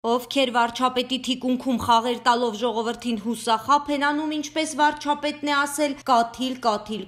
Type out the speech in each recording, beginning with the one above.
Ովքեր վարչապետի թիկունքում խաղեր տալով ժողովրդին հուսախաբ են անում, ինչպես վարչապետն է ասել, կաթիլ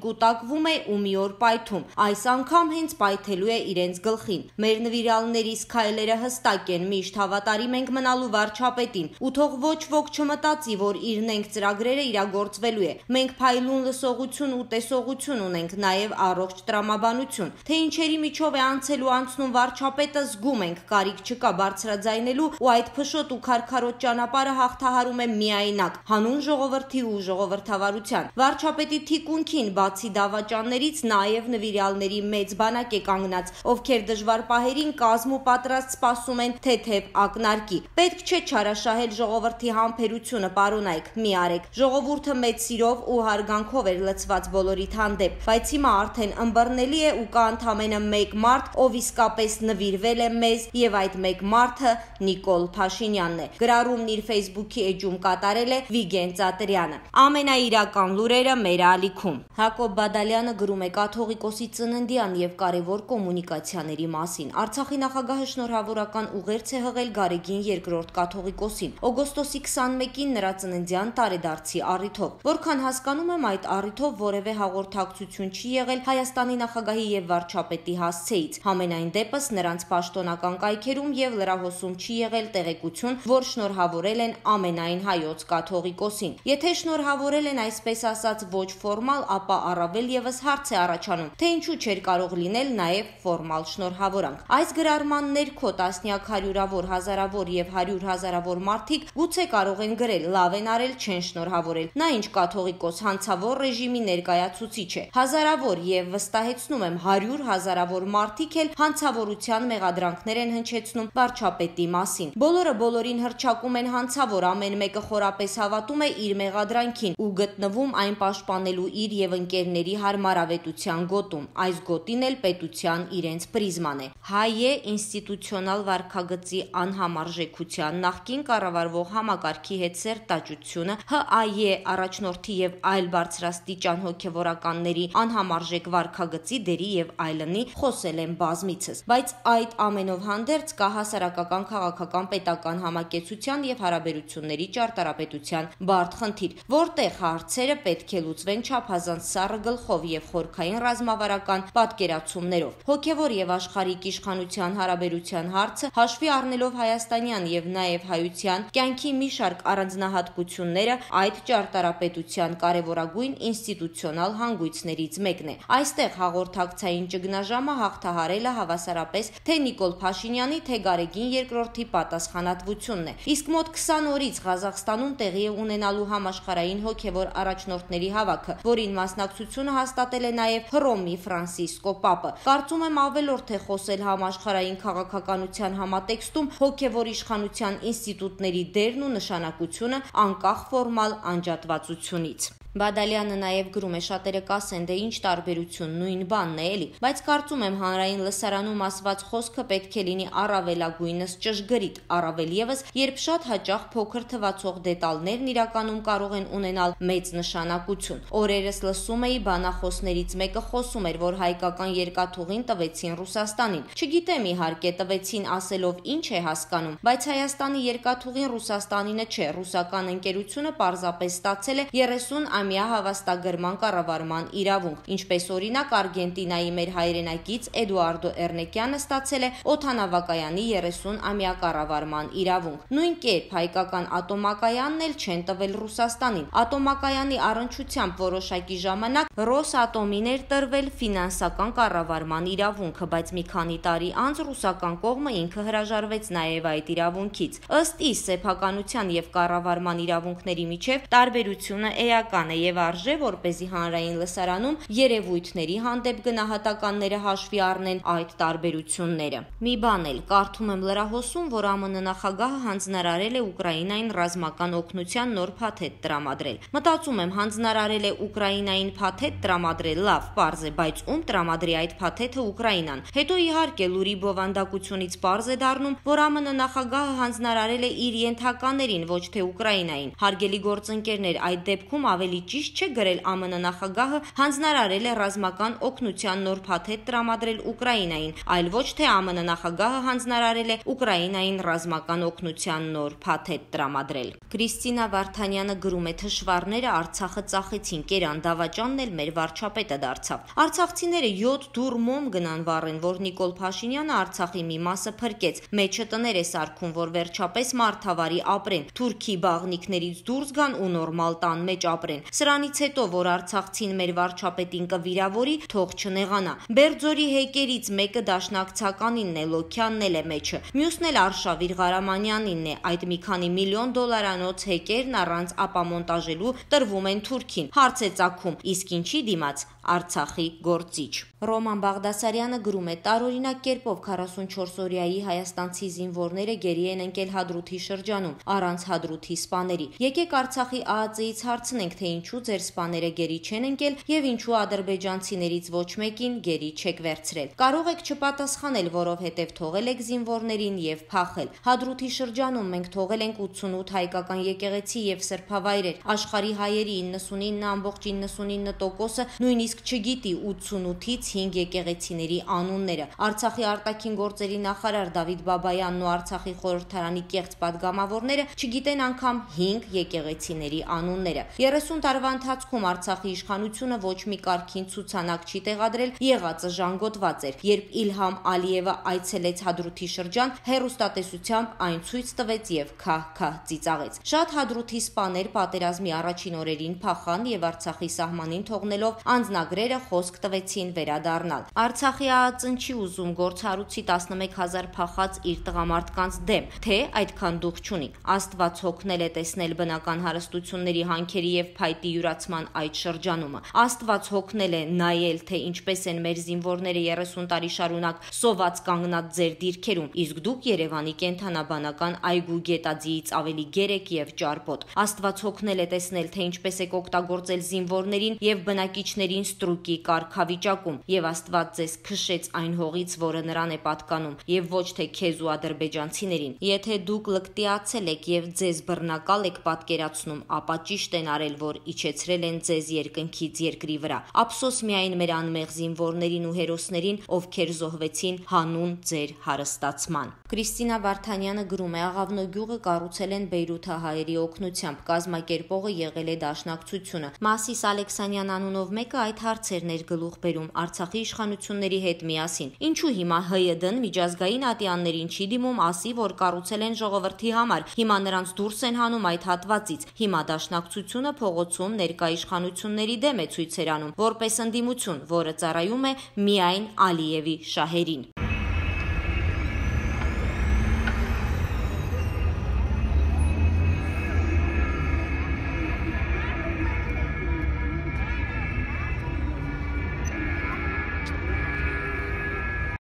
կուտակվում է ու մի օր պայթում, այս անգամ հենց պայթելու է իրենց գլխին։ Մեր նվիրալներիս քայլերը հստակ են, միշտ հավատարիմ ենք մնալու վարչապետին, ու թող ոչ ոք չմտածի, որ իր նենք ծրագրերը իրագործվելու է։ Մենք փայլուն լսողություն ու տեսողություն ունենք, նաև առողջ տրամաբանություն, թե ինչերի միջով է անցել ու անցնում վարչապետը, զգում ենք, կարիք չկա բարձրաձայնելու ու այդ փշոտ ու քարքարոտ ճանապարհը հաղթահարում է միայնակ, հանուն ժողովրդի ու ժողովրդավարության։ Վարչապետի թիկունքին, բացի դավաճաններից, նաև նվիրալների մեծ բանակ է կանգնած, ովքեր դժվար պահերին կազմ ու պատրաստ սպասում են թեթև ակնարկի։ Պետք չէ չարաշահել ժողովրդի համբերությունը, պարոնայք, մի արեք։ Ժողովուրդը մեծ սիրով ու հարգանքով էր լցված բոլորիդ հանդեպ, բայց հիմա արդեն ըմբռնելի է ու կա ընդամենը մեկ մարդ, ով իսկապես նվիրվել է մեզ, եւ այդ մեկ մարդը Նիկոլ Փաշինյանն է։ Գրառումն իր Facebook-ի էջում կատարել է Վիգեն Ծատրյանը։ Ամենաիրական լուրերը մեր ալիքում։ Հակոբ Բադալյանը գրում է կաթողիկոսի ծննդյան եւ կարևոր կոմունիկացիաների մասին։ Արցախի նախագահը շնորհավորական ուղերձ է հղել Գարեգին II կաթողիկոսին օգոստոսի 21-ին նրա ծննդյան տարեդարձի առիթով։ Որքան հասկանում եմ, այդ առիթով որևէ հաղորդակցություն չի եղել Հայաստանի նախագահի եւ վարչապետի հասցեից։ Համենայն դեպս նրանց պաշտոնական կայքերում եւ լրահոսում չի եղել տեղեկություն, որ շնորհավորել են ամենայն հայոց կաթողիկոսին։ Եթե շնորհավորել են այսպես ասած ոչ ֆորմալ, ապա առավել եւս հարց է առաջանում, թե ինչու չէր կարող լինել նաեւ ֆորմալ շնորհավորանք։ Այս գրառման ներքո տասնյակ հարյուրավոր, հազարավոր եւ 100 հազարավոր մարդիկ գուցե կարող են գրել, լավ են արել, չեն շնորհավորել։ Նա ինչ կաթողիկոս, հանցավոր ռեժիմի ներկայացուցիչ է։ Հազարավոր եւ վստահեցնում եմ 100 հազարավոր մարդիկ էլ հանցավորության մեղադրանքներ են հնչեցնում վարչապետի մասին։ Բոլորը բոլորին հռչակում են հանցավոր, ամեն մեկը խորապես հավատում է իր մեղադրանքին ու գտնվում այն պաշտպանելու իր եւ ընկերների հարմարավետության գոտում։ Այս գոտին էլ պետության իրենց պրիզման է։ Հայ է ինստիտուցիոնալ վարքագծի անհամարժեքության, նախկին կառավարվող համակարգի հետ սերտաճությունը, ՀԱԵ առաջնորդի եւ այլ բարձրաստիճան հոգեվորականների անհամարժեք վարքագծի դերի եւ այլնի խոսել են բազմիցս, բայց այդ ամենով հանդերձ կա հասարակական, քաղաքական, պետական համակեցության եւ հարաբերությունների ճարտարապետության բարդ խնդիր, որտեղ հարցերը պետք է լուծվեն չափազանց սառը գլխով եւ խորքային ռազմավարական պատկերացումներով։ Հոգեվոր եւ աշխարհիկ իշխանության հարաբերության հարցը հաշվի առնելով հայաստանյան եւ նաեւ հայության կյանքի մի շարք առանձնահատկությունները այդ ճարտարապետության կարևորագույն ինստիտուցիոնալ հանգույցներից մեկն է։ Այստեղ հաղորդակցային ճգնաժամը հաղթահարելը հավասարապես թե Նիկոլ Փաշինյանի, թե Գարեգին II-ի պատասխանատվությունն է։ Իսկ մոտ 20 օրից Ղազախստանում տեղի է ունենալու համաշխարհային հոգեվոր առաջնորդների հավաքը, որին մասնակցությունը հաստատել է նաև Հռոմի Ֆրանցիսկո Պապը։ Կարծում եմ ավելորդ է խոսել համաշխարհային քաղաքականության համատեքստում հոգեվոր իշխանության ինստիտուտների դերն ու նշանակությունը անկախ ֆորմալ անջատվածությունից։ Բադալյանը նաև գրում է, շատերը կասեն, դե ինչ տարբերություն, նույն բանն է էլի, բայց կարծում եմ հանրային լսարանում ասված խոսքը պետք է լինի առավելագույնս ճշգրիտ, առավել եւս, երբ շատ հաճախ փոքր թվացող դետալներն իրականում կարող են ունենալ մեծ նշանակություն։ Օրերս լսում էի բանախոսներից մեկը խոսում էր, որ հայկական երկաթուղին տվեցին Ռուսաստանին։ Չգիտեմ իհարկե տվեցին ասելով ինչ է հասկանում, բայց Հայաստանի երկաթուղին Ռուսաստանինը չէ, ռուսական ընկերությունը պարզապես ստացել է 30-ամյա հավաստագրման կառավարման իրավունք, ինչպես օրինակ Արգենտինայի մեր հայրենակից Էդուարդո Էրնեկյանը ստացել է օդանավակայանի 30-ամյա կառավարման իրավունք։ Նույն կերպ հայկական ատոմակայանն էլ չեն տվել Ռուսաստանին։ Ատոմակայանի առնչությամբ որոշակի ժամանակ Ռոսատոմին էր տրվել ֆինանսական կառավարման իրավունքը, բայց մի քանի տարի անց ռուսական կողմը ինքը հրաժարվեց նաև այդ իրավունքից։ Ըստ իս սեփականության եւ կառավարման իրավունքների միջև տարբերությունը էական է եւ արժե, որպեսզի հանրային լսարանում երևույթների հանդեպ գնահատականները հաշվի առնեն այդ տարբերությունները։ Մի բան էլ կարդում եմ լրահոսում, որ ԱՄՆ նախագահը հանձնարարել է Ուկրաինային ռազմական օգնության նոր փաթեթ տրամադրել։ Մտածում եմ, հանձնարարել է Ուկրաինային փաթեթ տրամադրել, լավ, պարզ է, բայց ում տրամադրի այդ փաթեթը Ուկրաինան։ Հետո իհարկե լուրի բովանդակությունից պարզ է դառնում, որ ԱՄՆ նախագահը հանձնարարել է իր ենթականերին, ոչ թե Ուկրաինային։ Հարգելի գործընկերներ, այդ դեպքում ավելի ճիշտ չէ գրել ԱՄՆ նախագահը հանձնարարել է ռազմական օգնության նոր փաթեթ տրամադրել Ուկրաինային, այլ ոչ թե ԱՄՆ նախագահը հանձնարարել է Ուկրաինային ռազմական օգնության նոր փաթեթ տրամադրել։ Կրիստինա Վարդանյանը գրում է. թշվառները Արցախը ծախեցին, Կերան Դավաճանն էլ մեր վարչապետը դարձավ։ Արցախցիները 7 դուռ մոմ գնան վառեն, որ Նիկոլ Փաշինյանը Արցախի մի մասը փրկեց, մեջը տներ է սարքում, որ վերջապես մարդավարի ապրեն, թուրքի բաղնիքներից դուրս գան ու նորմալ տան մեջ ապրեն։ Սրանից հետո, որ արցախցին մեր վարչապետին կվիրավորի, թող չնեղանա։ Բերձորի հեկերից մեկը դաշնակցականինն է, Լոքյանն էլ է մեջը, մյուսն էլ Արշավիր Ղարամանյանինն է, այդ մի քանի միլիոն դոլարանոց հեկերն առանց ապամոնտաժելու տրվում են Թուրքին։ Հարց է ծագում, իսկ ինչի դիմաց Արցախի գործիչ։ Ռոման Բաղդասարյանը գրում է. տարօրինակ կերպով 44-օրյայի հայաստանցի զինվորները գերի են ընկել Հադրութի շրջանում, առանց Հադրութի սպաների։ Եկեք Արցախի ԱԱԾ-ից հարցնենք, թե ինչու ձեր սպաները գերի չեն ընկել եւ ինչու ադրբեջանցիներից ոչ մեկին գերի չեք վերցրել։ Կարող եք չպատասխանել, որովհետեւ թողել եք զինվորներին եւ փախել։ Հադրութի շրջանում մենք թողել ենք 88 հայկական եկեղեցի եւ սրբավայրեր։ Աշխարհի հայերի 99.99%-ը նույնիսկ չգիտի 88-ից 5 եկեղեցիների անունները։ Արցախի արտաքին գործերի նախարար Դավիթ Բաբայանն ու Արցախի խորհրդարանի կեղծ падգամավորները չգիտեն անգամ 5 եկեղեցիների անունները։ 30 տարվա ընթացքում Արցախի իշխանությունը ոչ մի կարգին ցուցանակ չի տեղադրել, եղածը ժանգոտված էր։ Երբ Իլհամ Ալիևը այցելեց Հադրութի շրջան, հեռուստատեսությամբ այն ցույց տվեց եւ քահ-քահ ծիծաղեց։ Շատ Հադրութի սպաներ պատերազմի առաջին օրերին փախան եւ Արցախի սահմանին թողնելով անձնագրերը խոսք տվեցին վերադառնալ։ Արցախի ԱԱԾ-ն չի ուզում գործառույցի 11000 փախած իր տղամարդկանց դեմ, թե այդքան դուխ չունի։ Աստված հոգնել է տեսնել բնական հարստությունների հանքերի եւ փայտի յուրացման այդ շրջանումը։ Աստված հոգնել է նայել, թե ինչպես են մեր զինվորները 30 տարի շարունակ սոված կանգնած ձեր դիրքերում, իսկ դուք Երևանի կենթանաբանական այգու գետաձիից ավելի գերեք եւ ճարպոտ։ Աստված հոգնել է տեսնել, թե ինչպես եք օգտագործել զինվորներին եւ բնակիչներին ստրուկի կարգավիճակում, եւ Աստված ձեզ քշեց այն հողից, որը նրան է պատկանում, եւ ոչ թե քեզ ու ադրբեջանցիներին։ Եթե դուք լկտիացել եք եւ ձեզ բռնակալ եք պատկերացնում, ապա ճիշտ են արել, որ իջեցրել են ձեզ երկնքից երկրի վրա։ Ափսոս միայն մեր անմեղ զինվորներին ու հերոսներին, ովքեր զոհվեցին հանուն ձեր հարստացման։ Կրիստինա Վարդանյանը գրում է. Աղավնո գյուղը կառուցել են բեյրութահայերի օգնությամբ, կազմակերպողը եղել է Դաշնակցությունը։ Մասիս Ալեքսանյան անունով մեկը այդ հարցերն էր գլուխ բերում Արցախի իշխանությունների հետ միասին։ Ինչու հիմա ՀՅԴ-ն միջազգային ատյաններին չի դիմում, ասի, որ կառուցել են ժողովրդի համար, հիմա նրանց դուրս են հանում այդ հատվածից։ Հիմա Դաշնակցությունը փողոցում ներկա իշխանությունների դեմ է ցույցեր անում, որպես ընդդիմություն, որը ծառայում է միայն Ալիևի շահերին։